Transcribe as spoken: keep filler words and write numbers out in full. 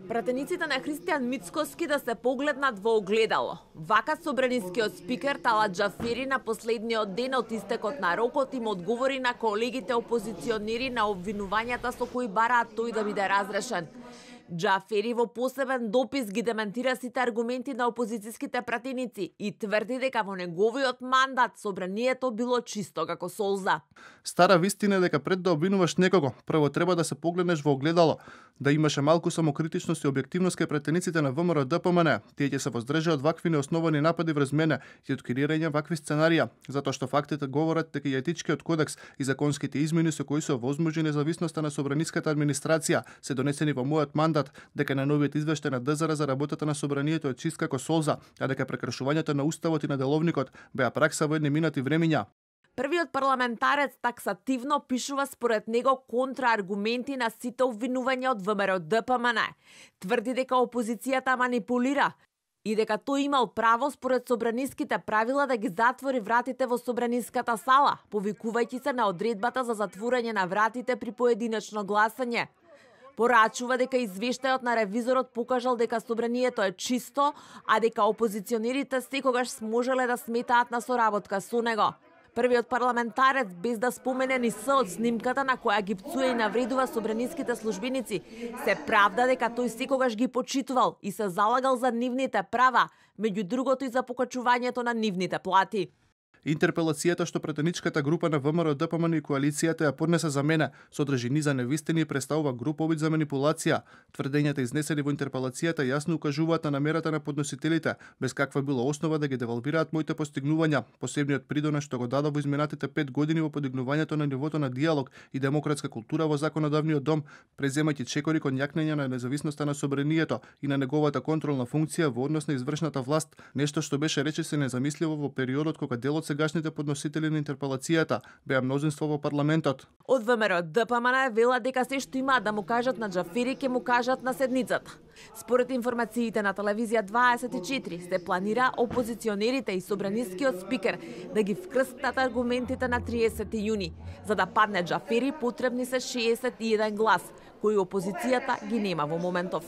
Пратениците на Христијан Мицкоски да се погледнат во огледало. Вака собранискиот спикер Талат Џафери на последниот ден од истекот на рокот им одговори на колегите опозиционери на обвинувањата со кои бараат тој да биде разрешен. Џафери во посебен допис ги дементира сите аргументи на опозицијските пратеници и тврди дека во неговиот мандат собранието било чисто како солза. Стара вистина е дека пред да обвинуваш некого, прво треба да се погледнеш во огледало, да имаше малку самокритичност и објективност кај пратениците на ВМРО-ДПМН. Тие ќе се воздржат од вакви неосновани напади врз мене и од креирање вакви сценарија, затоа што фактите говорат дека и етичкиот кодекс и законските измени со кои се овозможи независноста на собраниската администрација се донесени во мојот мандат, дека на новиот извештај на ДЗР за работата на собранието е чист како солза, а дека прекршувањето на уставот и на деловникот беа пракса во едни минати времиња. Првиот парламентарец таксативно пишува според него контрааргументи на сите обвинувања од ВМРО-ДПМН. Тврди дека опозицијата манипулира и дека тој имал право според собраниските правила да ги затвори вратите во собраниската сала, повикувајќи се на одредбата за затворање на вратите при поединечно гласање. Порачува дека извештајот на ревизорот покажал дека собранието е чисто, а дека опозиционерите секогаш сможеле да сметаат на соработка со него. Првиот парламентарец, без да спомене ни се од снимката на која ги пцуе и навредува собраниските службеници, се правда дека тој секогаш ги почитувал и се залагал за нивните права, меѓу другото и за покачувањето на нивните плати. Интерпелацијата што пратеничката група на ВМРО-ДПМН и коалицијата ја поднесе за мене содржи низа невистини и представува груб обид за манипулација. Тврдењата изнесени во интерпелацијата јасно укажуваат на намерата на подносителите, без каква било основа да ги девалвираат моите постигнувања, посебниот придонес што го дадов во изминатите пет години во подигнувањето на нивото на диалог и демократска култура во законодавниот дом, преземајќи чекори кон јакнење на независноста на собранието и на неговата контролна функција во однос на извршната власт, нешто што беше речиси незамисливо во периодот кога дел од сегашните подносители на интерпелацијата беа мнозинство во парламентот. Од ВМРО-ДПМН велат дека се што имаат да му кажат на Џафери ќе му кажат на седницата. Според информациите на телевизија дваесет и четири се планира опозиционерите и собранискиот спикер да ги вкрстат аргументите на триесети јуни. За да падне Џафери потребни се шеесет и еден глас, кои опозицијата ги нема во моментов.